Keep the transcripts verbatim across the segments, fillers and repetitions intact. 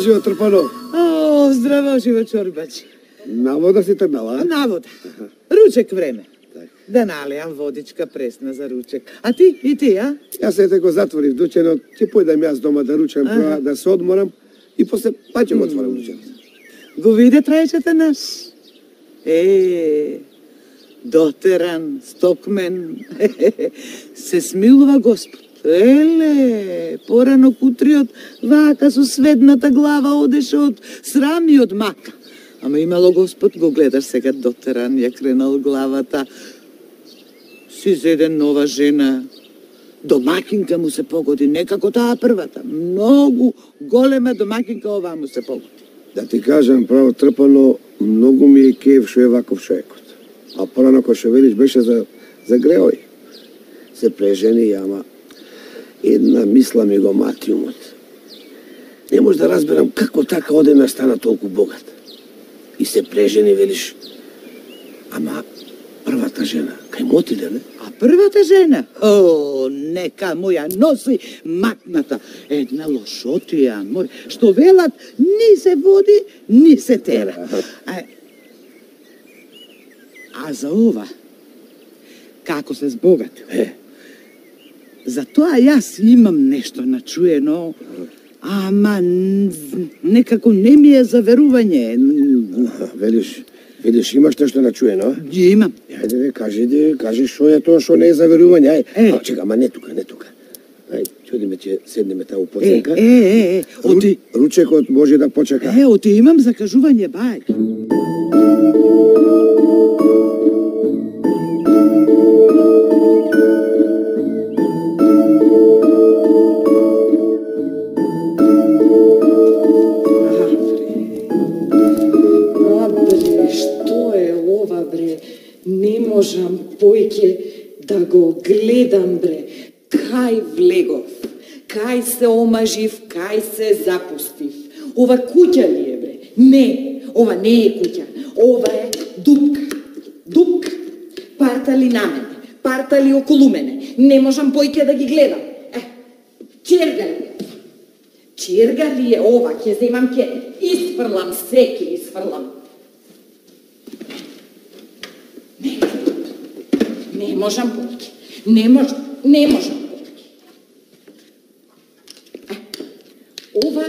Живо Трпано. О, здраво, живо Чорбачи. На вода си трнала? На вода. Ручек време. Да налијам водичка пресна за ручек. А ти, и ти, а? Јас ете го затворив дученот, ќе појдам јас дома да ручам, прва, да се одморам и после па ќе го отворам дученот. Го виде трајчата наш? Е, дотеран, стокмен, се смилува Господ. Еле, порано кутриот, вака со сведната глава одеше од срам и од мака. Ама имало Господ, го гледаш сега дотеран, ја кренал главата. Си зеде нова жена, домакинка му се погоди, некако таа првата. Многу голема домакинка оваа му се погоди. Да ти кажам, право Трпано, многу ми е кеф шо е ваков човекот. А порано кој шо велиш беше за, за греој. Се прежени, ама една мисла ми го мати умот. Не може да разберам како така одена стана толку богат. И се прежени, велиш, ама првата жена, кај му отиде, не? А првата жена? О, нека му ја носи макната. Една лошотија, мој, што велат, ни се води, ни се тера. А, а за ова, како се збогатил? Е. За тоа јас имам нешто начуено, ама некако не ми е за верување. Велиш, велиш, имаш нешто начуено? Имам. Ајде, кажи, де, кажи шо е тоа што не е за верување. Ај, е. А, чека, ама не тука, не тука. Ај, чудиме ќе седнеме таму поценка. Е, е, е, оти... Ручекот може да почека. Е, оти имам закажување, бај. Не можам појќе да го гледам, бре. Кај влегов, кај се омажив, кај се запустив. Ова куќа ли е, бре? Не, ова не е куќа. Ова е дупка. Дупка. Партали на мене, партали околу мене. Не можам појќе да ги гледам. Е, черга ли е? Черга ли е ова? Ќе земам, ќе isfrlam, се ќе isfrlam. Не можам појќе. Не можам, не можам појќе. Ова,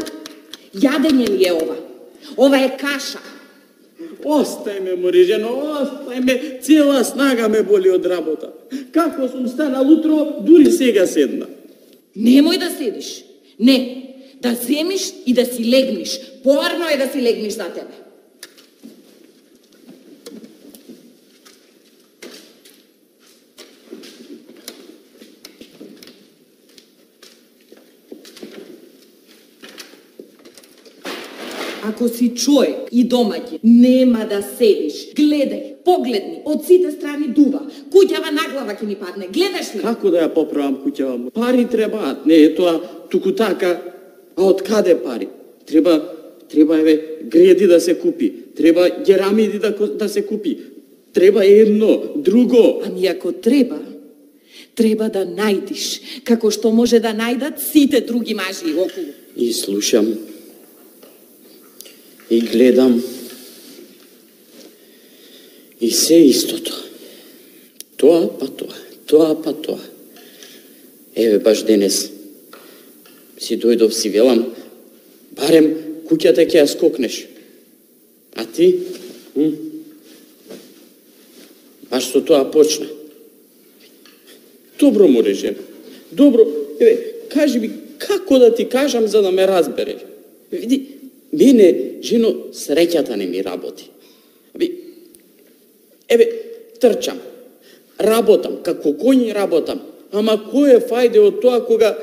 јадење ли е ова? Ова е каша. Остај ме, мори жено, остај ме, цела снага ме боли од работа. Како сум станал утро, дури сега седна. Немој да седиш. Не, да земиш и да си легниш. Порно е да си легниш за тебе. Ако си човек и домаќин, нема да седиш. Гледај, погледни, од сите страни дува. Куќава на глава ќе ни падне. Гледаш ли? Како да ја поправам куќава? Пари требаат, не е тоа туку така. А од каде пари? Треба, треба еве греди да се купи. Треба герамиди да, да се купи. Треба едно, друго. Ами ако треба, треба да најдиш, како што може да најдат сите други мажи околу. И слушам. И гледам, и се истото. Тоа па тоа, тоа па тоа. Еве баш денес си дојдов, си велам, барем куќата ќе ја скокнеш. А ти? М? Баш со тоа почна. Добро му режем. Добро, еве, кажи ми, како да ти кажам за да ме разбереш? Види, мене, жено, среќата не ми работи. Аби, еве, трчам, работам, како коњ работам, ама кој е фајде од тоа кога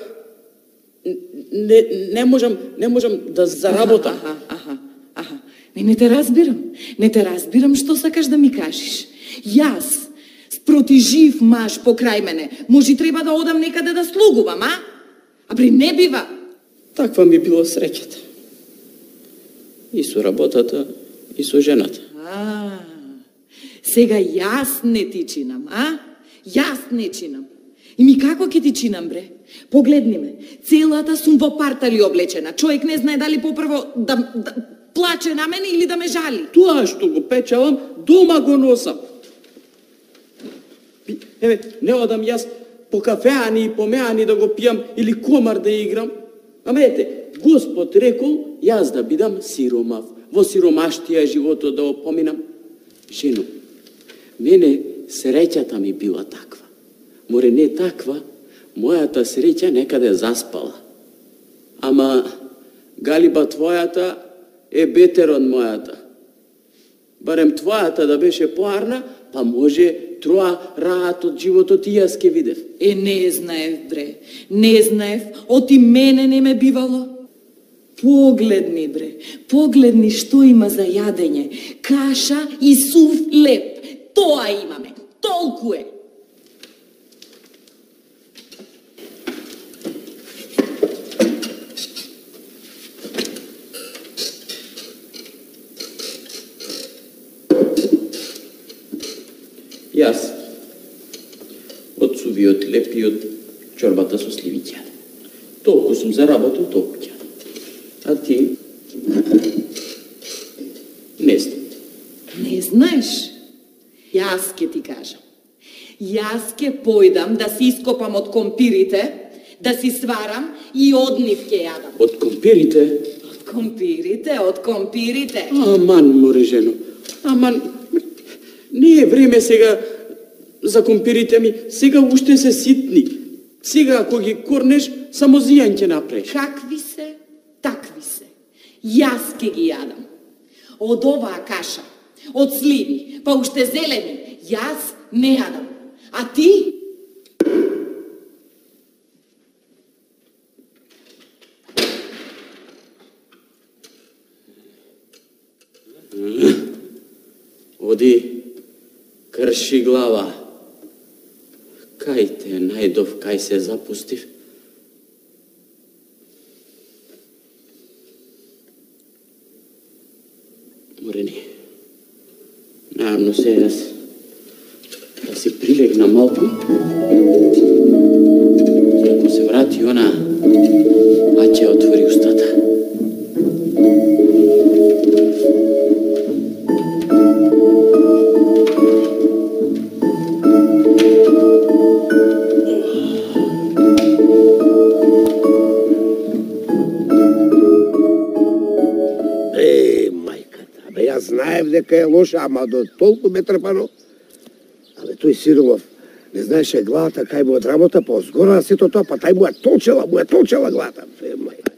Не, не можам, не можам да заработам. Аха, аха, аха. Не, не те разбирам. Не те разбирам што сакаш да ми кажеш. Јас, спроти жив маж покрај мене, може треба да одам некаде да слугувам, а? А при не бива. Таква ми било среќата. И со работата, и со жената. А, сега јас не ти чинам, а? Јас не чинам. И ми како ќе ти чинам, бре? Погледни ме, целата сум во партали облечена. Човек не знае дали попрво да, да плаче на мене или да ме жали. Тоа што го печалам, дома го носам. Еве, не одам јас по кафеани и по меани да го пијам или комар да играм. Ама ете, Господ рекол јас да бидам сиромав, во сиромаштија животот да опоминам. Жено, мене среќата ми била таква. Море не таква, мојата среќа некаде заспала. Ама галиба твојата е бетер од мојата. Барем твојата да беше поарна, па може троа раат од животот и јас ке видев. Е, не знаев, бре, не знаев, оти мене не ме бивало. Погледни, бре, погледни што има за јадење. Каша и сув леп. Тоа имаме, толку е. Јас, од сувиот леп и од чорбата со сливи ќе јадам. Толку сум заработил, толку ќе јадам. А ти? Не знам. Не знаеш? Јас ке ти кажам. Јас ке појдам да си ископам од компирите, да си сварам и од нив ке јадам. Од компирите? Од компирите, од компирите. Аман, море жено. Аман, не е време сега за компирите ми. Сега уште се ситни. Сега ако ги корнеш, само зијан ќе направиш. Какви се, такви се. Јас ке ги јадам. Од оваа каша, од сливи, па уште зелени, јас не јадам. А ти? Оди, крши глава. Кај те најдов, кај се запустив? Морени, најавно се јас да си прилегна малку. И ако се врати она, а ќе отвори устата. Знаев дека е лоша, ама до толку ме трпано. Але тој Сиромов не знаеше главата кај му од работа, па згора сето тоа, па тај му ја толчела, му ја толчела главата. Е, мајка,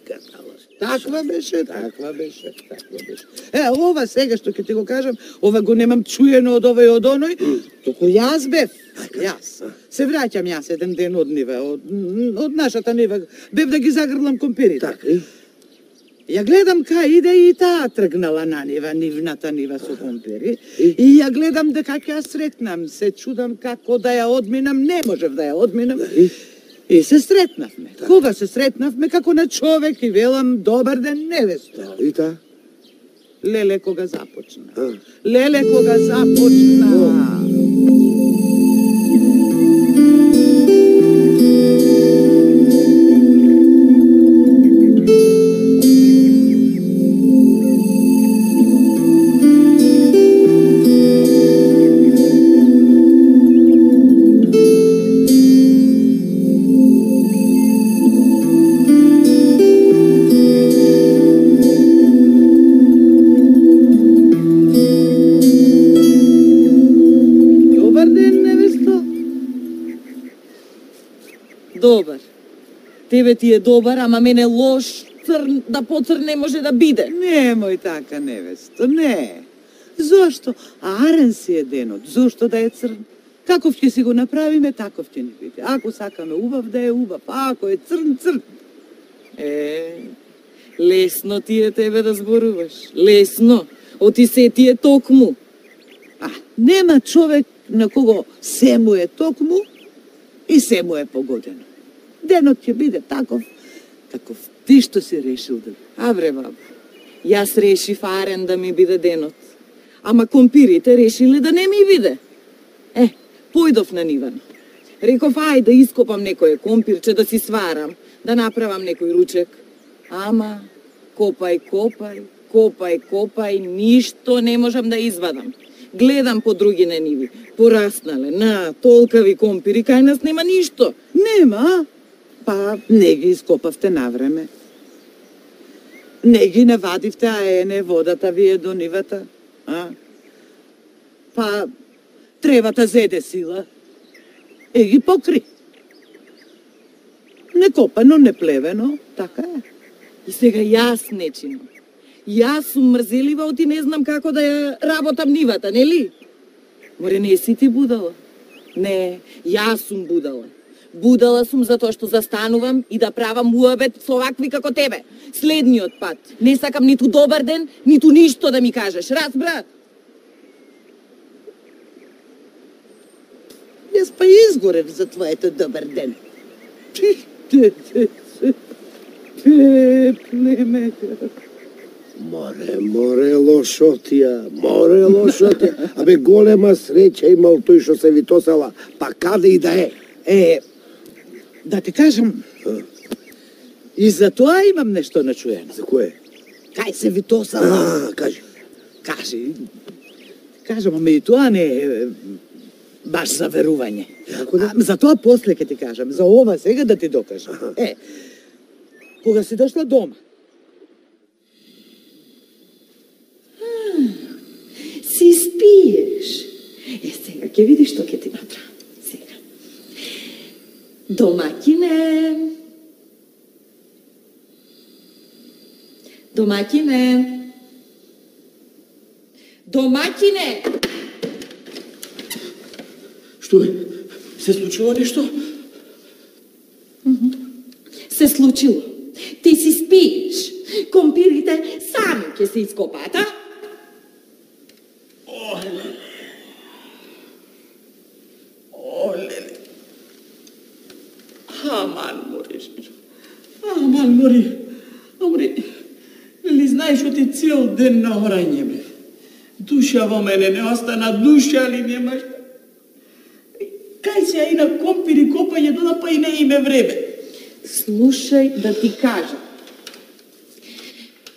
таква беше, таква беше, таква беше. Е, ова сега што ќе ти го кажам, ова го немам чуено од овој од оној, туку јас бев, јас. Се враќам јас еден ден од нива, од, од нашата нива, бев да ги загрлам компирите. Така, Ја гледам кај иде и таа тргнала на нива, нивната нива со компири. И ја гледам дека ќе ја сретнам, се чудам како да ја одминам, не можев да ја одминам. И се сретнавме. Кога се сретнавме, како на човек и велам добар ден невесто. И та? Леле кога започна. Леле кога започна. Добар. Тебе ти е добар, ама мене лош, црн, да поцрн не може да биде. Немој така, невесто, не. Зошто? Арен си е денот, зошто да е црн? Каков ќе си го направиме, таков ќе ни биде. Ако сакаме убав, да е убав, а ако е црн, црн. Е, лесно ти е тебе да зборуваш. Лесно. Оти се ти е токму. А, нема човек на кого се му е токму и се му е погодено. Денот ќе биде таков, таков ти што си решил да биде. А бре, баба, јас решив арен да ми биде денот. Ама компирите решиле да не ми биде. Е, појдов на нивано. Реков, ај да ископам некој компирче, да си сварам, да направам некој ручек. Ама, копај, копај, копај, копај, ништо не можам да извадам. Гледам по други на ниви, пораснале, на толкави компири, кај нас нема ништо. Нема, па не ги ископавте навреме. Не ги навадивте, а ене водата ви е до нивата. А? Па тревата зеде сила. Е ги покри. Не копано, не плевено, така е. И сега јас нечинам. Јас сум мрзелива, оти не знам како да ја работам нивата, нели? Море, не си ти будала? Не, јас сум будала. Будала сум затоа што застанувам и да правам муабет со овакви како тебе. Следниот пат. Не сакам ниту добар ден, ниту ништо да ми кажеш. Разбра? Јас па изгорев за твоето добар ден. Племе. Море, море лошотија, море лошотија. Абе, голема среќа имал тој што се витосала, па каде и да е. Е, да ти кажам, и за тоа имам нешто начуено. За кое? Кај се витосала? А, кажи. Кажи. Кажам, ама и тоа не е баш за верување. Како да? А, за тоа после ќе ти кажам, за ова сега да ти докажам. Е, кога си дошла дома, Си спиеш. Е, сега ќе видиш што ќе ти направам. Сега. Домакине. Домакине. Домакине. Што е? Се случило нешто? Се случило. Ти си спиеш. Компирите сами ќе се ископаат, а? Олеле. Аман, мориш. Аман, мори. Амори. Ли знаеш што ти цел ден на орање, бе. Душа во мене не остана, душа ли немаш? Кај се и на компири копање дода, па и не име време. Слушај да ти кажам.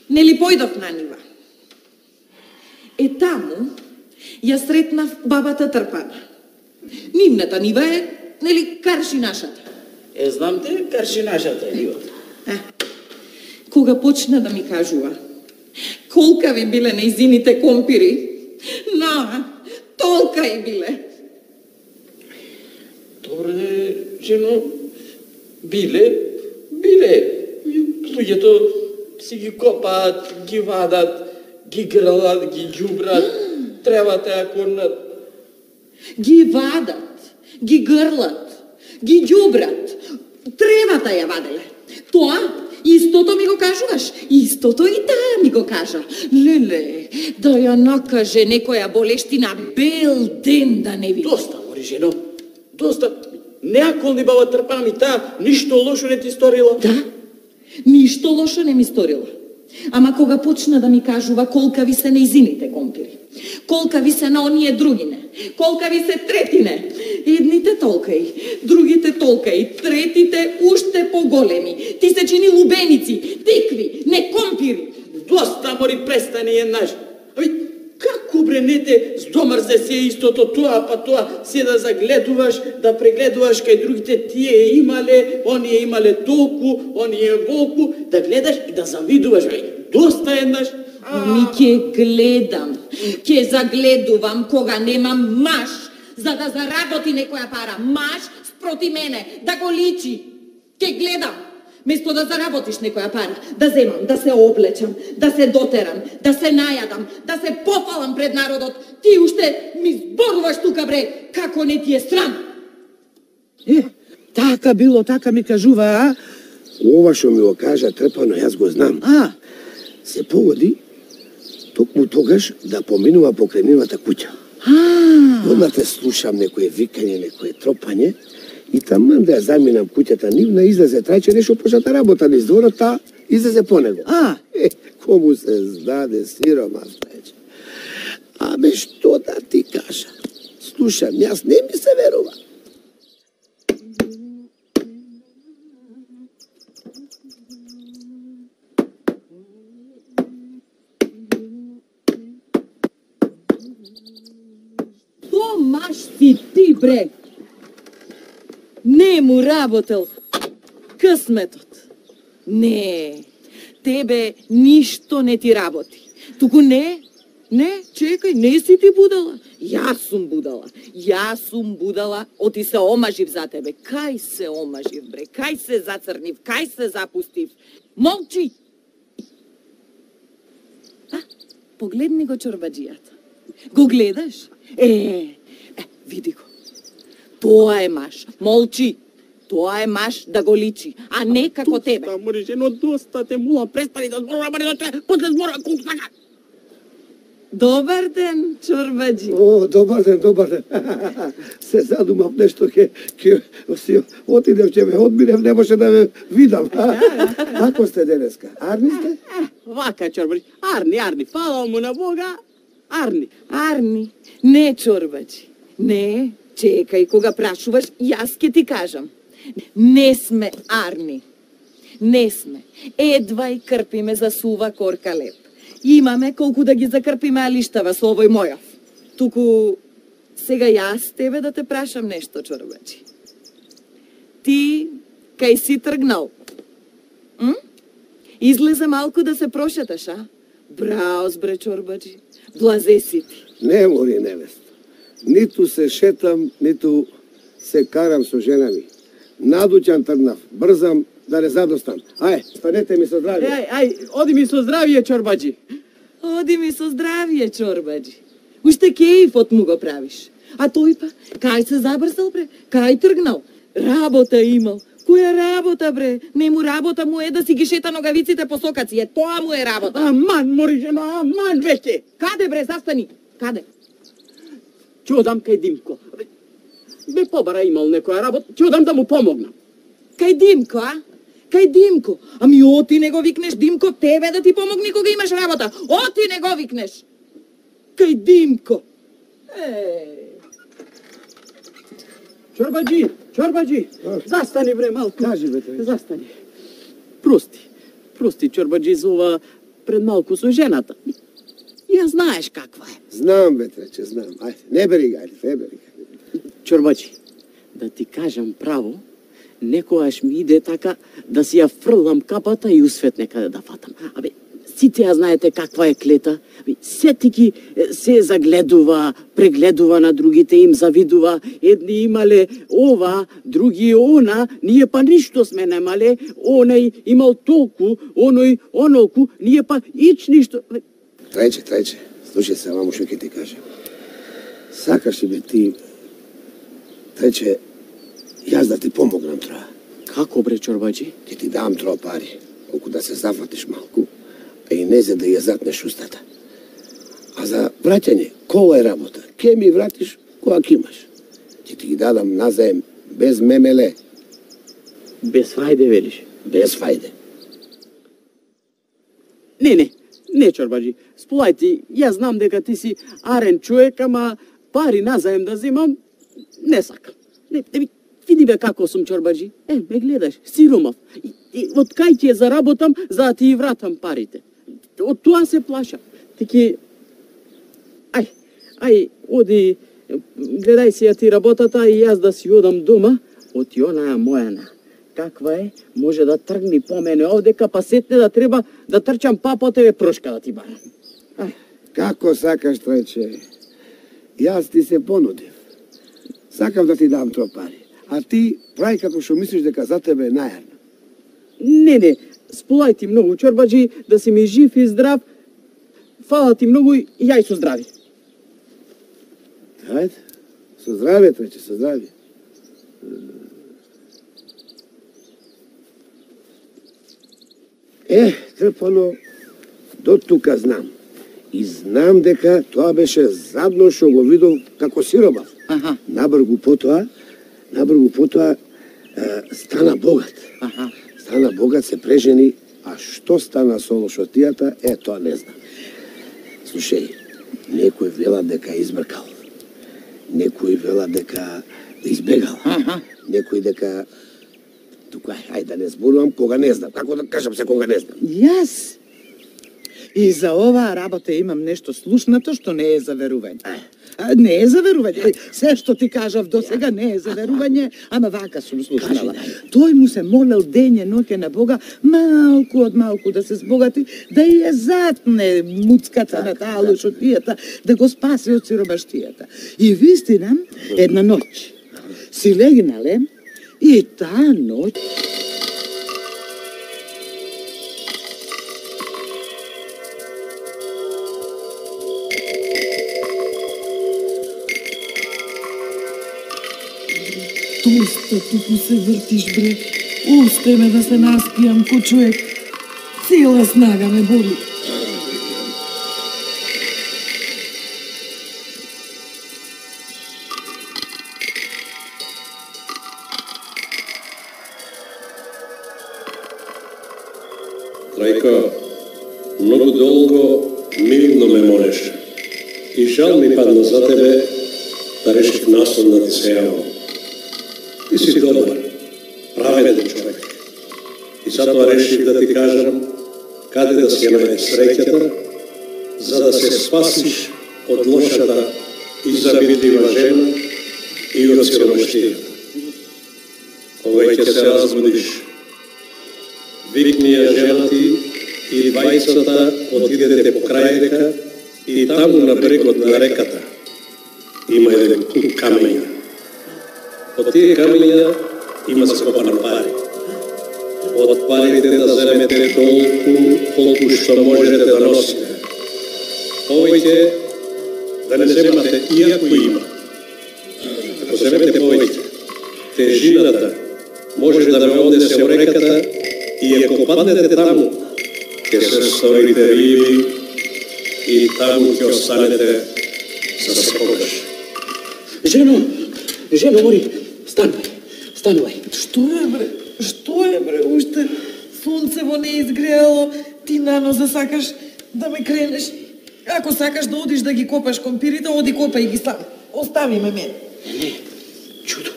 Нели појдов на нива? Е таму ја сретнав бабата Трпана. Нивната нива е, нели, карши нашата. Е, знам те, карши нашата е нивата. Е, кога почна да ми кажува колкави биле нејзините компири, на, толка и биле. Добре, жено, биле, биле. Луѓето си ги копаат, ги вадат, ги грлат, ги ѓубрат, требате ја корнат. Ги вадат, ги грлат, ги ѓубрат, тревата ја ваделе. Тоа истото ми го кажуваш, истото и таа ми го кажа. Леле, да ја накаже некоја болештина бел ден да не види. Доста, мори жено, доста. Не аколни баба Трпана ми таа, ништо лошо не ти сторила. Да, ништо лошо не ми сторила. Ама кога почна да ми кажува колкави се нејзините компири, колкави се на оние другине, колкави се третине, едните толкаи, другите толкаи, третите уште поголеми, ти се чини лубеници, тикви, не компири. Доста, мори, престани еднаш. Аби, како бре не те здомрзе се истото тоа, па тоа, се да загледуваш, да прегледуваш кај другите тие имале, оние имале толку, оние волку, да гледаш и да завидуваш, бе. Доста еднаш. Ми ќе гледам, ќе загледувам кога немам маш, за да заработи некоја пара. Маш спроти мене, да го личи. Ќе гледам. Место да заработиш некоја пара, да земам, да се облечам, да се дотерам, да се најадам, да се пофалам пред народот, ти уште ми зборуваш тука, бре, како не ти е срам. Е, така било, така ми кажува, а? Ова што ми го кажа Трпано, јас го знам. А, Се погоди токму тогаш да поминува покрај нивната куќа. а, Одма те слушам некое викање, некое тропање и таман да ја заминам куќата нивна, излезе трајче нешто почната работа низ дворот, та излезе по него. а, Е, кому се здаде сиромас, трајче. Абе, што да ти кажа? Слушам, јас не ми се верува. То маш си ти, бре! Не му работел късметот. Не, тебе ништо не ти работи. Туку не, не, чекај, не си ти будала. Јас сум будала. Јас сум будала, оти се омажив за тебе. Кај се омажив, бре? Кај се зацрнив? Кај се запустив? Молчи! А, погледни го чорбаджијата. Го гледаш? Е, е, види го. Тоа е маш. Молчи. Тоа е маш да го личи, а не како тебе. Доста, море жено, доста те мула, престани да зборува, баре да после зборува колку сака. Добар ден, чорбаджи. О, добар ден, добар ден. Се задумав нешто, ке, ке си отидев, ќе ме одминев, не може да ме видам. Како сте денеска? Арни сте? Вака, чорбаджи, арни, арни, фала му на Бога, арни. Арни, не чорбаджи. Не, чекај, кога прашуваш, јас ке ти кажам. Не сме арни. Не сме. Едвај крпиме за сува корка леп. Имаме колку да ги закрпиме алиштава со овој мојав. Туку, сега јас тебе да те прашам нешто, чорбаджи. Ти, кај си тргнал? М? Излезе малку да се прошеташ, а? Браос, бре, чорбаджи. Блазе си ти. Не, мори невеста. Ниту се шетам, ниту се карам со жена ми. Надуќан тргнав, брзам да не задостам. Ај, станете ми со здравје. Ај, ај, оди ми со здравие, чорбаджи. Оди ми со здравие, чорбаджи. Уште кејфот му го правиш. А тој па, кај се забрсал, бре? Кај тргнал? Работа имал. Која работа, бре? Не му работа му е да си ги шета ногавиците по сокаци. Е, тоа му е работа. Аман, мори жено, аман веќе. Каде, бре, застани? Каде? Ќе одам кај Димко. Бе побара имал некоја работа, ќе одам да му помогнам. Кај Димко, а? Кај Димко. Ами оти не го викнеш Димко тебе да ти помогне кога имаш работа. Оти не го викнеш. Кај Димко. Е, Чорбаджи, чорбаджи, А? застани бре малку. Кажи, бе, тој. Застани. Прости, прости, чорбаджи, за ова пред малку со жената. Ја знаеш каква е. Знам, бе, трече, знам. Ајде, не бери га, не бери га. Чорбаджи, да ти кажам право, некојаш ми иде така да си ја фрлам капата и усвет некаде да фатам. Абе, сите ја знаете каква е клета. Абе, сетики се загледува, прегледува на другите, им завидува. Едни имале ова, други она, ние па ништо сме немале. Оној имал толку, оној онолку, ние па ич ништо. Абе, Трече, трече, слушај се, мамо, што ќе ти кажем. Сакаш ли бе ти, трече, јас да ти помогнам троа. како бре, чорбаджи? Ќе ти дам троа пари, колку да се зафатиш малку, а и не за да ја затнеш устата. А за враќање, кова е работа? Ке ми вратиш кога ќе имаш. Ќе ти ги дадам назаем без мемеле, Без фајде, велиш? без фајде. Не, не, не, чорбаджи. Сполај ти, јас знам дека ти си арен човек, ама пари назаем да земам, не сакам. Не, не, види бе како сум, чорбаджи. Е, ме гледаш, сиромав. И, и од кај ќе заработам, за да ти вратам парите. Од тоа се плашам. Тики, ај, ај, оди, гледај си ја ти работата и јас да си одам дома, од онаа мојана. Каква е, може да тргни по мене овдека, па сетне да треба да трчам па по тебе прошка да ти барам. Ај, Како сакаш, трече? Јас ти се понудив. Сакам да ти дам троа пари. А ти прави како што мислиш дека за тебе е најарно. не, не, сполај ти многу, чорбаджи, да си ми жив и здрав. Фала ти многу и јај со здрави. Ајде, со здравје, трече, со здравје. Е, Трпано, до тука знам. И знам дека тоа беше задно што го видов како сиромав. Аха. Набргу потоа, набргу потоа е, стана богат. Аха. Стана богат, се прежени, а што стана со лошотијата, е, тоа не знам. Слушај, некој вела дека избркал. Некој вела дека избегал. Аха. Некој дека... Тука, ајде да не зборувам, кога не знам. Како да кажам се кога не знам? Јас и за оваа работа имам нешто слушнато што не е за верување. А, не е за верување. Се што ти кажав до сега не е за верување, ама вака сум слушнала. Тој му се молел дење ноќе на Бога малку од малку да се збогати, да ја затне муцката на таа лошотијата, да го спаси од сиромаштијата. И вистина, една ноќ си легнале и таа ноќ Доста тупо се вртиш, бре. Осте ме да се наспијам ко човек. Цела снага ме боли. Трајко, многу долго мирно ме молеше. И жал ми падна за тебе да решив наслон да ти се јавам. Ти си добар, праведен човек. И затоа решив да ти кажам каде да си ја најдеш среќата, за да се спасиш од лошата и завидлива жена и од сиромаштијата. Кога ќе се разбудиш, викни ја жена ти и двајцата отидете по крај река и таму на брегот на реката има еден куп камења. Од тие камења има скопани пари. Од парите да земете толку, колку што можете да носите. Повеќе да не земате иако има. Ако земете повеќе, тежината може да ме однесе во реката и ако паднете таму, ќе се сторите риби и таму ќе останете за секогаш. Жено, жено, мори, станувај, станувај. Што е, бре? Што е, бре? Уште сонцево не изгреало, ти наноза сакаш да ме кренеш. Ако сакаш да одиш да ги копаш компирите, оди копај ги сам. Остави ме мене. Не, не, чудо.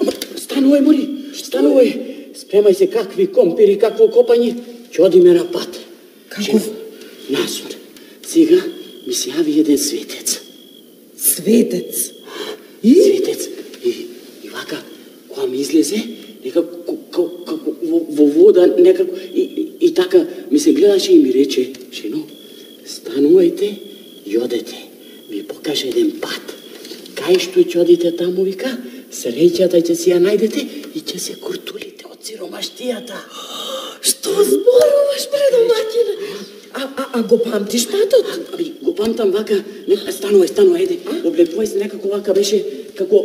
Ама, станувај, мори, станувај. Спремај се какви компири, какво копање, ќе одиме на пат. Каков? Насор. Сега ми се јави еден светец. Светец. И? Светец. И, и вака, кога ми излезе, некако, како во, во вода, некако, и, и, и така ми се гледаше и ми рече, жено, станувајте и одете, ми покаже еден пат. Кај што ќе одите таму, вика, среќата ќе си ја најдете и ќе се куртулите од сиромаштијата. Што зборуваш, бре, домаќине? А, а, а го памтиш патот? Аби, го памтам вака, нека станувај, станувај, еде, облепувај се некако вака беше, како,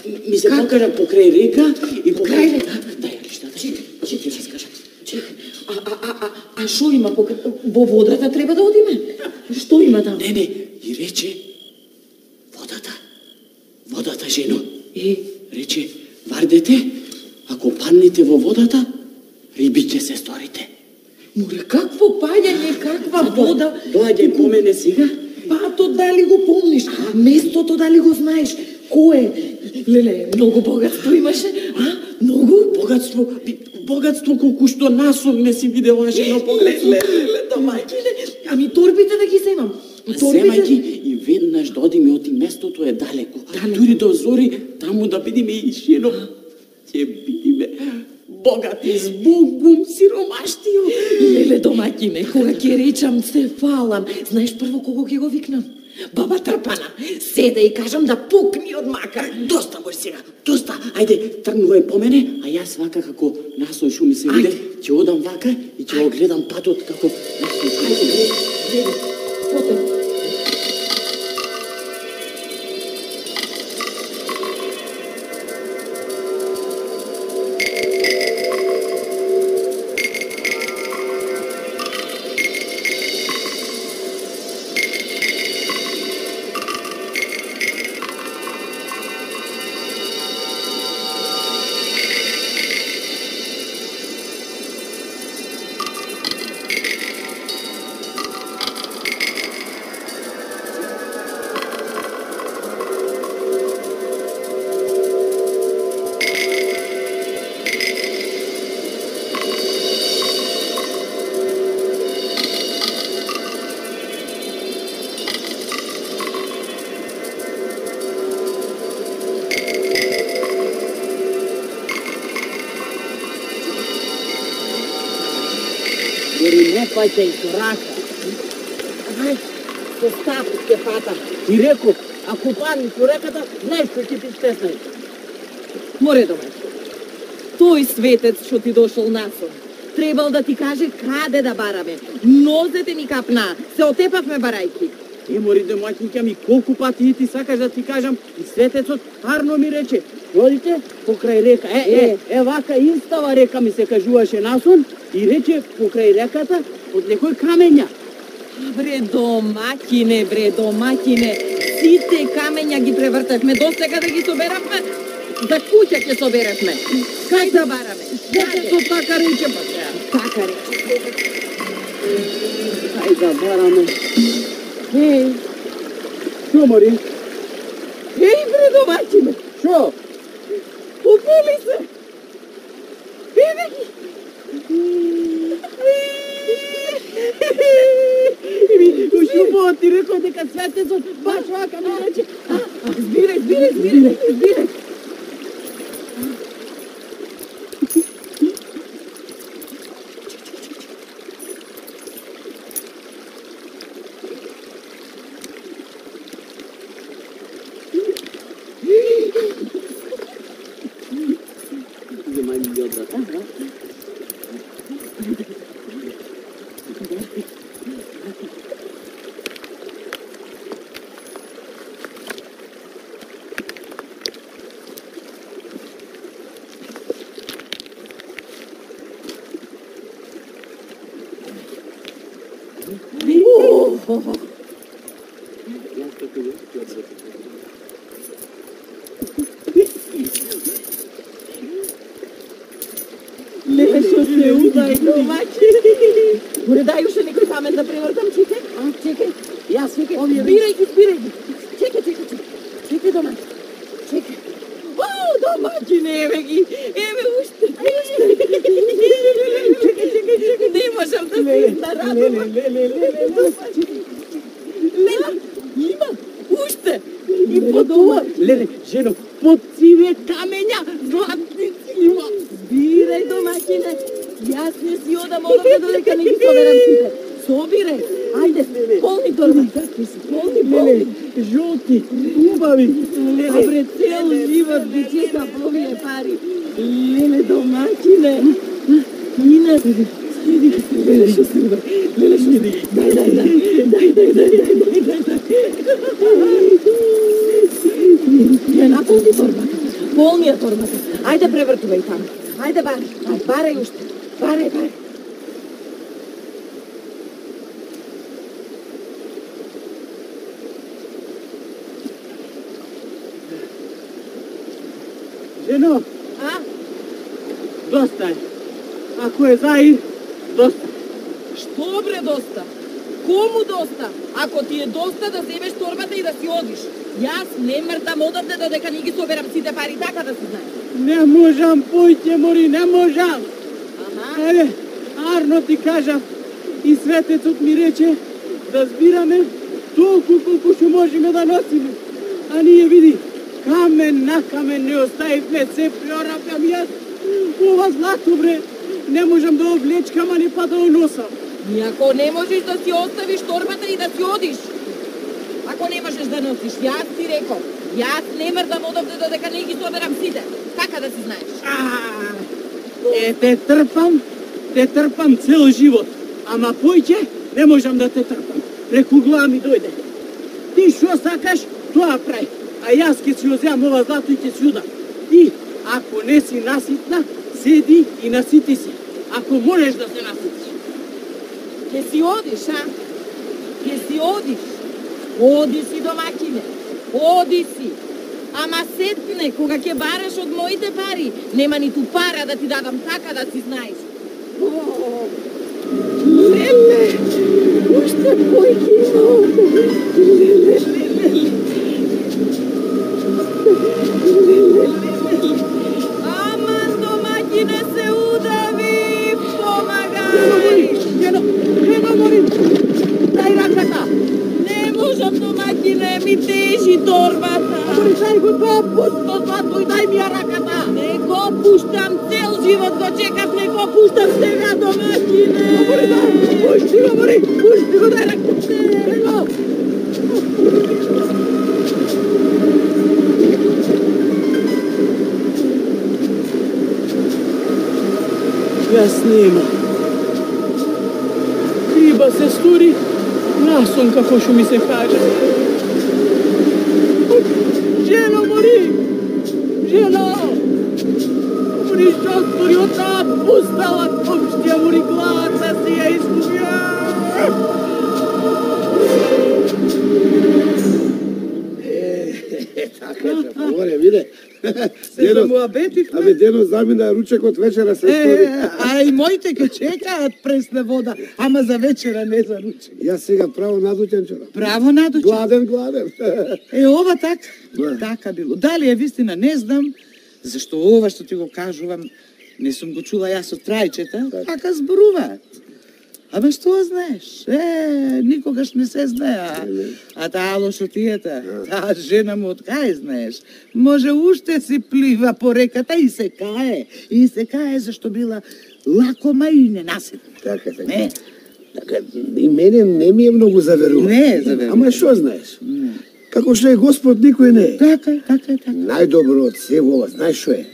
ми се покажа покрај река и покрај река. Дај, лиштата, ќе ти раскажам. А, а, а, а, а шо има покрај... Во водата треба да одиме? Што има таму? Не, не, и рече, водата, водата, жено. И? Рече, вардете, ако паднете во водата, риби ќе се сторите. Море, какво паѓање, каква вода? Доаѓај по мене сега. Патот дали го помниш? Местото дали го знаеш? Кој е? Леле, многу богатство имаше, а? Многу? Богатство, богатство колку што насум не си видела, жено, погледни. Леле, домаќине, ами торбите да ги земам. Земај ги и веднаш да одиме, оти местото е далеко. Дури до зори, таму да бидеме и жено. Ќе бидеме богати, збогум, сиромаштио. Леле, домаќине, кога ќе речам се фалам, знаеш прво кого ќе го викнам? Баба Трпана, седа и кажам да пукни од мака. Доста може сега, доста. Ајде, тргнувај по мене, а јас вака како насој шуми се виде, ќе одам вака и ќе го гледам патот како насој шуми се виде. Гледа, потем. Дори не пајте и со рака. Ај, со стап ќе патам. Ти реков, ако паднеш по реката, знаеш што ќе ти стеснај. Море домаќин. Тој светец што ти дошол насон, требал да ти каже каде да бараме. Нозете ни капна, се отепавме барајки. Е, мори домаќинка ми, колку пати и ти сакаш да ти кажам, и светецот Арно ми рече, одите покрај река. Е, е, е, вака инстава река ми се кажуваше насон и рече покрај реката од некој камења. Бре домаќине, бре домаќине, сите камења ги превртевме, досега да ги соберавме, за куќа ќе соберавме. Кај да бараме? Светецот така рече, па сега. Така рече. Кај да бараме? Еј, шо мори? Еј, бре домаќине, Шо? попели се. Еве ги. Еми, ушубо ти рекол дека светецот баш вака ми рече. Збирај, збирај, збирај, збирај. Земај ми ги одврата, да? Леле, шо се удај домаќине. Море дај уште некој камен да превртам, чекај. А, чекај. Јас викам, Збирај ги, збирај ги. Чекај, чекај, чекај. Чекај домаќине. Чекај. О, домаќине, еве ги. Еве уште. Чекај, чекај, чекај. Не можам да се изнарадувам. леле, леле, леле, Лела, има. Уште. и по тоа, леле, жено, под сиве камења, златници има. Збирај домаќине. Јас не си одам одовде додека не ги соберам сите. Собирај. Ајде, полни торбата. Полни, полни. Жолти, убави, А пред цел живот ги чека овие пари. Леле домаќине. Ина. Леле шо се ува. Леле шо се. Дај, дај, дај. Дај, дај, дај, дај, дај, дај, дај. Ја наполни торбата. Полни ја торбата. Ајде превртувај таму. Ајде барај. Ајде барај уште. Барај, барај. жено, А? доста е. Ако е заир, доста. Што бре доста? Кому доста? Ако ти е доста да земеш торбата и да си одиш. Јас не мртам одавде додека не ги соберам сите пари, така да се знае. Не можам, појте, мори, не можам. Ама, Еве, Арно ти кажав и светецот ми рече да збираме толку колку што можеме да носиме. А ние види, камен на камен не оставивме, се преорапјам јас. Ова злато, бре, не можам да облечкам, ани па да оносам. и ако не можеш да си оставиш торбата и да си одиш, ако не можеш да носиш, јас ти реков, јас не мртам одавде додека не ги соберам сите, така да си знаеш. А, е, те трпам, те трпам цел живот. Ама појќе, не можам да те трпам. Преку глава ми дојде. Ти што сакаш, тоа прај. А јас ќе си оземам ова злато и ќе си удам. Ти, ако не си наситна, седи и насити си. Ако можеш да се наситиш. Ке си одиш, а? Ке си одиш. Оди си домаќине. Оди си. Ама сетне, кога ќе бараш од моите пари, нема ниту пара да ти дадам, така да си знаеш. О, леле, уште појки има овде. Леле, леле. Леле, леле. Аман, домаќине се удави, помагај. Жено, жено, молим, дај раката. Не можам, домаќине, ми тежи торбата. Дај го тоа пусто злато и дај ми ја раката. Не го пуштам, цел живот го чекав, не го пуштам сега, домаќине. Дај, мори, пушти го, дай ръка, дай го. Јас нема. Криба се стори, насом како што ми се каже. Жено, мори! Жено! Мори, што стори од таа пустала топштија, мори, главата си ја изгубија! Така е, поморе, виде. Се замуабетивме. Абе, дено замина ручекот вечера се стори. Е, а и моите ке чекаат пресна вода, ама за вечера, не за ручек. Јас сега право надуќен чора. Право надуче. Гладен, гладен. Е, ова така, Да. така било. Дали е вистина, не знам, зашто ова што ти го кажувам, не сум го чула јас од трајчета, така зборуваат. Абе, што знаеш? Е, никогаш не се знае, а, а таа лошотијата, таа жена му од кај знаеш? Може уште си плива по реката и се кае, и се кае зашто била лакома и ненаситна. Така, така. Не, Така, и мене не ми е многу заверува. Не е заверува. Ама што знаеш? Како што е Господ, никој не е. така е, така е, така. Најдобро од се ова, знаеш што е?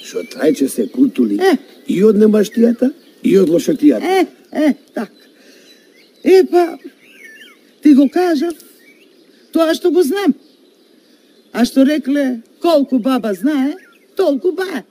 Што трајче се култули Е. и од немаштијата, и од лошотијата. Е, е, така. Е, па, ти го кажав, тоа што го знам. А што рекле, колку баба знае, толку бае.